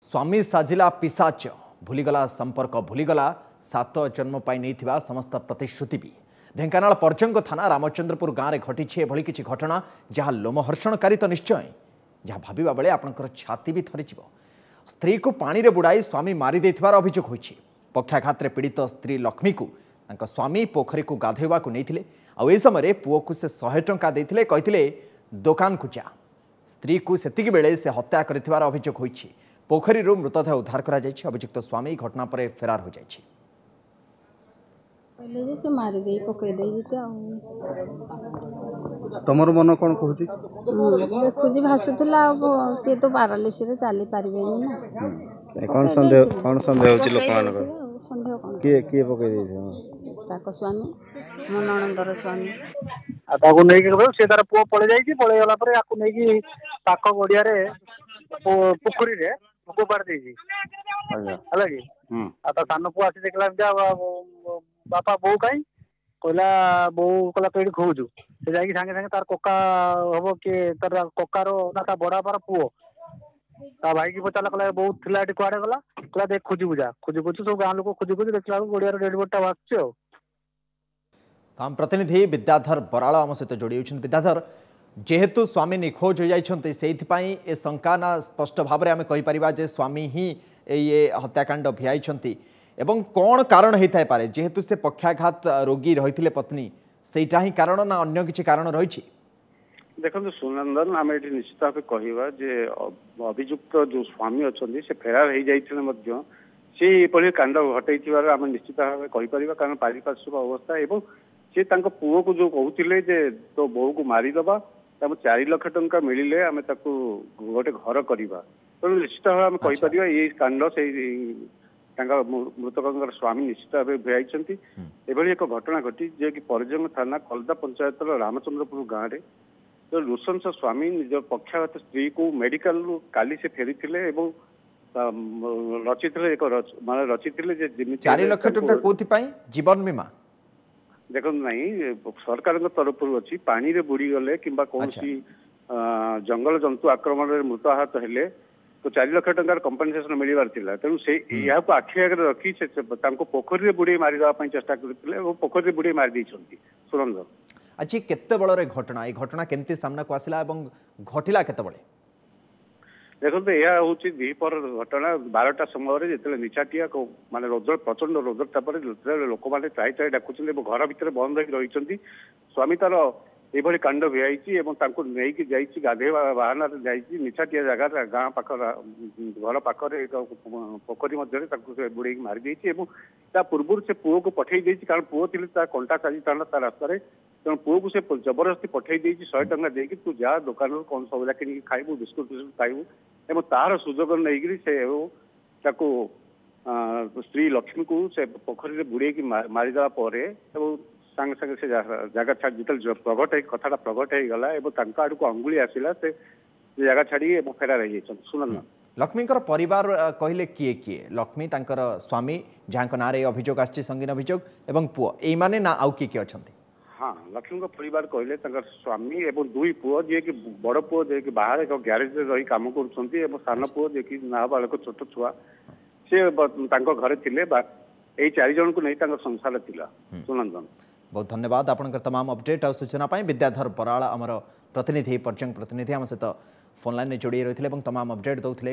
ସ୍ୱାମୀ ସାଜିଲା ପିଶାଚ, ଭୁଲିଗଲା ସମ୍ପର୍କ, ଭୁଲିଗଲା ସାତ ଜନ୍ମ ପାଇଁ ନେଇଥିବା ସମସ୍ତ ପ୍ରତିଶ୍ରୁତି ବି। ଢେଙ୍କାନାଳ ପରଜଙ୍ଗ ଥାନା ରାମଚନ୍ଦ୍ରପୁର ଗାଁରେ ଘଟିଛି ଏଭଳି କିଛି ଘଟଣା ଯାହା ଲୋମହର୍ଷଣକାରୀ ତ ନିଶ୍ଚୟ, ଯାହା ଭାବିବା ବେଳେ ଆପଣଙ୍କର ଛାତି ବି ଥରିଯିବ। ସ୍ତ୍ରୀକୁ ପାଣିରେ ବୁଡ଼ାଇ ସ୍ୱାମୀ ମାରି ଦେଇଥିବାର ଅଭିଯୋଗ ହୋଇଛି। ପକ୍ଷାଘାତରେ ପୀଡ଼ିତ ସ୍ତ୍ରୀ ଲକ୍ଷ୍ମୀକୁ ତାଙ୍କ ସ୍ୱାମୀ ପୋଖରୀକୁ ଗାଧୋଇବାକୁ ନେଇଥିଲେ, ଆଉ ଏହି ସମୟରେ ପୁଅକୁ ସେ 100 ଟଙ୍କା ଦେଇଥିଲେ, କହିଥିଲେ ଦୋକାନକୁ ଯା। ସ୍ତ୍ରୀକୁ ସେତିକି ବେଳେ ସେ ହତ୍ୟା କରିଥିବାର ଅଭିଯୋଗ ହୋଇଛି। ପୋଖରୀରୁ ମୃତଦେହ ଉଦ୍ଧାର କରାଯାଇଛି। ଅଭିଯୁକ୍ତ ସ୍ୱାମୀ ଘଟଣା ପରେ ଫେରାର ହୋଇଯାଇଛି। କହିଲେ ଯେ ସେ ମାରିଦେଇ ପକେଇ ଦେଇଛି ଆଉ। ତମର ମନ କ'ଣ କହୁଛି? ଦେଖୁଛି ଭାସୁଥିଲା, ଆଉ ସିଏ ତ ପାରାଲିସିରେ ଚାଲି ପାରିବେନି ନା। କ'ଣ ସନ୍ଦେହ, କ'ଣ ସନ୍ଦେହ ହେଉଛି ଲୋକମାନଙ୍କର? ସନ୍ଦେହ କ'ଣ? କିଏ କିଏ ପକେଇ ଦେଇଥିବ? ତାଙ୍କ ସ୍ୱାମୀ, ମୋ ନଣନ୍ଦର ସ୍ୱାମୀ। ଆଉ ତାକୁ ନେଇକି ସେ ତାର ପୁଅ ପଳେଇ ଯାଇଛି। ପଳେଇ ଗଲା ପରେ ଆକୁ ନେଇକି ପାଖ ଗଡିଆରେ ପୋଖରୀରେ ଫୋପାଡ଼ି ଦେଇଛି, ହେଲା କି। ଆଉ ତା ସାନ ପୁଅ ଆସି ଦେଖିଲା ଏମିତି, ବାପା ବୋଉ କାଇଁ? କହିଲା ବୋଉ କହିଲା ତୁ ଏଇଠି ଖୋଜୁ। ସେ ଯାଇକି ସାଙ୍ଗେ ସାଙ୍ଗେ ତାର କକା ହବ କିଏ, ତାର କକାର ନା ତା ବଡ ବାପାର ପୁଅ, ତା ଭାଇକି ପଚାରିଲା, କହିଲା ବୋଉ ଥିଲା ଏଠି କୁଆଡେ ଗଲା? କହିଲା ଦେଖ ଖୋଜିବୁ ଯା। ଖୋଜୁ ଖୋଜୁ ସବୁ ଗାଁ ଲୋକ ଖୋଜୁ ଖୋଜୁ ଦେଖିଲା ବେଳକୁ ଗଡିଆର ଡେଡ୍ ବଡିଟା ଭାସୁଛି। ଆଉ ଆମ ପ୍ରତିନିଧି ବିଦ୍ୟାଧର ବରାଳ ଆମ ସହିତ ଯୋଡ଼ି ହେଉଛନ୍ତି। ବିଦ୍ୟାଧର, ଯେହେତୁ ସ୍ୱାମୀ ନିଖୋଜ ହୋଇଯାଇଛନ୍ତି, ସେଇଥିପାଇଁ ଏ ଶଙ୍କା ନା ସ୍ପଷ୍ଟ ଭାବରେ ଆମେ କହିପାରିବା ଯେ ସ୍ୱାମୀ ହିଁ ଏଇ ହତ୍ୟାକାଣ୍ଡ ଭିଆଇଛନ୍ତି? ଏବଂ କ'ଣ କାରଣ ହେଇଥାଇପାରେ? ଯେହେତୁ ସେ ପକ୍ଷାଘାତ ରୋଗୀ ରହିଥିଲେ ପତ୍ନୀ, ସେଇଟା ହିଁ କାରଣ ନା ଅନ୍ୟ କିଛି କାରଣ ରହିଛି? ଦେଖନ୍ତୁ ସୁନନ୍ଦନ, ଆମେ ଏଠି ନିଶ୍ଚିତ ଭାବେ କହିବା ଯେ ଅଭିଯୁକ୍ତ ଯୋଉ ସ୍ୱାମୀ ଅଛନ୍ତି ସେ ଫେରାର ହେଇଯାଇଥିଲେ ମଧ୍ୟ ସେ ଏପରି କାଣ୍ଡ ଘଟେଇଥିବାର ଆମେ ନିଶ୍ଚିତ ଭାବେ କହିପାରିବା। କାରଣ ପାରିପାର୍ଶ୍ୱିକ ଅବସ୍ଥା ଏବଂ ସେ ତାଙ୍କ ପୁଅକୁ ଯୋଉ କହୁଥିଲେ ଯେ ତୋ ବୋଉକୁ ମାରିଦବା, ତାକୁ 4 ଲକ୍ଷ ଟଙ୍କା ମିଳିଲେ ଆମେ ତାକୁ ଗୋଟେ ଘର କରିବା। ତେଣୁ ନିଶ୍ଚିତ ଭାବେ ଆମେ କହିପାରିବା ଏଇ କାଣ୍ଡ ସେଇ ତାଙ୍କ ମୃତକଙ୍କର ସ୍ୱାମୀ ନିଶ୍ଚିତ ଭାବେ ଭିଆଇଛନ୍ତି। ଏଭଳି ଏକ ଘଟଣା ଘଟି ଯିଏକି ପରଜଙ୍ଗ ଥାନା କଲଦା ପଞ୍ଚାୟତର ରାମଚନ୍ଦ୍ରପୁର ଗାଁରେ ନୃଶଂସ ସ୍ୱାମୀ ନିଜ ପକ୍ଷାଘାତ ସ୍ତ୍ରୀକୁ ମେଡିକାଲରୁ କାଲି ସେ ଫେରିଥିଲେ ଏବଂ ରଚିଥିଲେ ଏକ ମାନେ ରଚିଥିଲେ ଯେ ଯେମିତି 4 ଲକ୍ଷ ଟଙ୍କା କୋଉଥିପାଇଁ? ଜୀବନ ବୀମା? ଦେଖନ୍ତୁ, ନାହିଁ, ସରକାରଙ୍କ ତରଫରୁ ଅଛି, ପାଣିରେ ବୁଡ଼ିଗଲେ କିମ୍ବା କୌଣସି ଜଙ୍ଗଲ ଜନ୍ତୁ ଆକ୍ରମଣରେ ମୃତାହତ ହେଲେ ତ 4 ଲକ୍ଷ ଟଙ୍କାର କମ୍ପନସେସନ ମିଳିବାର ଥିଲା। ତେଣୁ ସେ ଏହାକୁ ଆଖି ଆଗରେ ରଖି ସେ ତାଙ୍କୁ ପୋଖରୀରେ ବୁଡ଼େଇ ମାରିଦେବା ପାଇଁ ଚେଷ୍ଟା କରିଥିଲେ ଏବଂ ପୋଖରୀରେ ବୁଡ଼େଇ ମାରି ଦେଇଛନ୍ତି। ସୁରଞ୍ଜନ, ଆଜି କେତେବେଳରେ ଘଟଣା? ଏଇ ଘଟଣା କେମିତି ସାମ୍ନାକୁ ଆସିଲା ଏବଂ ଘଟିଲା କେତେବେଳେ? ଦେଖନ୍ତୁ, ଏହା ହଉଛି ଦ୍ୱିପହର ଘଟଣା। 12ଟା ସମୟରେ ଯେତେବେଳେ ନିଛାଟିଆ ମାନେ ରୌଦ୍ର, ପ୍ରଚଣ୍ଡ ରୌଦ୍ର, ତାପରେ ଯେତେବେଳେ ଲୋକମାନେ ତ୍ରାହି ତ୍ରାହି ଡାକୁଛନ୍ତି ଏବଂ ଘର ଭିତରେ ବନ୍ଦ ହେଇକି ରହିଛନ୍ତି, ସ୍ୱାମୀ ତାର ଏଭଳି କାଣ୍ଡ ଭିଆଇଛି ଏବଂ ତାଙ୍କୁ ନେଇକି ଯାଇଛି ଗାଧେଇବା ବାହାନାରେ ଯାଇଛି ନିଛାଟିଆ ଜାଗାରେ, ଗାଁ ପାଖ ଘର ପାଖରେ ଏକ ପୋଖରୀ ମଧ୍ୟରେ ତାକୁ ସେ ବୁଡେଇକି ମାରି ଦେଇଛି। ଏବଂ ତା ପୂର୍ବରୁ ସେ ପୁଅକୁ ପଠେଇ ଦେଇଛି, କାରଣ ପୁଅ ଥିଲେ ତା କଣ୍ଟା ସାଜିଥାନ୍ତା ତା ରାସ୍ତାରେ। ତେଣୁ ପୁଅକୁ ସେ ଜବରଦସ୍ତି ପଠେଇ ଦେଇଛି 100 ଟଙ୍କା ଦେଇକି, ତୁ ଯା ଦୋକାନରୁ କଣ ସଉଦା କିଣିକି ଖାଇବୁ, ବିସ୍କୁଟ ଫିସ୍କୁଟ ଖାଇବୁ। ଏବଂ ତାର ସୁଯୋଗ ନେଇକିରି ସେ ତାକୁ ସ୍ତ୍ରୀ ଲକ୍ଷ୍ମୀକୁ ସେ ପୋଖରୀରେ ବୁଡେଇକି ମାରିଦେବା ପରେ ଏବଂ ସାଙ୍ଗେ ସାଙ୍ଗେ ସେ ଜାଗା ଛାଡ଼ି, ଯେତେବେଳେ ପ୍ରଘଟ ହେଇ କଥାଟା ପ୍ରଘଟ ହେଇଗଲା ଏବଂ ତାଙ୍କ ଆଡ଼କୁ ଅଙ୍ଗୁଳି ଆସିଲା, ସେ ଜାଗା ଛାଡ଼ି ଏବଂ ଫେରାର ହେଇଯାଇଛନ୍ତି। ସୁନନ୍ଦନ, ଲକ୍ଷ୍ମୀଙ୍କର ପରିବାର କହିଲେ କିଏ କିଏ? ଲକ୍ଷ୍ମୀ, ତାଙ୍କର ସ୍ୱାମୀ ଯାହାଙ୍କ ନାଁରେ ଏହି ଅଭିଯୋଗ ଆସିଛି, ସଙ୍ଗୀନ ଅଭିଯୋଗ, ଏବଂ ପୁଅ, ଏଇମାନେ ନା ଆଉ କିଏ କିଏ ଅଛନ୍ତି? ହଁ, ଲକ୍ଷ୍ମୀଙ୍କ ପରିବାର କହିଲେ ତାଙ୍କର ସ୍ୱାମୀ ଏବଂ 2 ପୁଅ, ଯିଏକି ବଡ଼ ପୁଅ ଯିଏକି ବାହାରେ ଏକ ଗ୍ୟାରେଜରେ ରହି କାମ କରୁଛନ୍ତି ଏବଂ ସାନ ପୁଅ ଯିଏକି ନାବାଳକ ଛୋଟ ଛୁଆ, ସେ ତାଙ୍କ ଘରେ ଥିଲେ। ବା ଏଇ 4 ଜଣଙ୍କୁ ନେଇ ତାଙ୍କ ସଂସାର ଥିଲା। ସୁନନ୍ଦନ, ବହୁତ ଧନ୍ୟବାଦ ଆପଣଙ୍କର ତମାମ ଅପଡେଟ୍ ଆଉ ସୂଚନା ପାଇଁ। ବିଦ୍ୟାଧର ବରାଳ ଆମର ପ୍ରତିନିଧି, ପର୍ଯ୍ୟଙ୍ଗ ପ୍ରତିନିଧି ଆମ ସହିତ ଫୋନ୍ ଲାଇନ୍ରେ ଯୋଡ଼ି ରହିଥିଲେ ଏବଂ ତମାମ ଅପଡେଟ୍ ଦେଉଥିଲେ।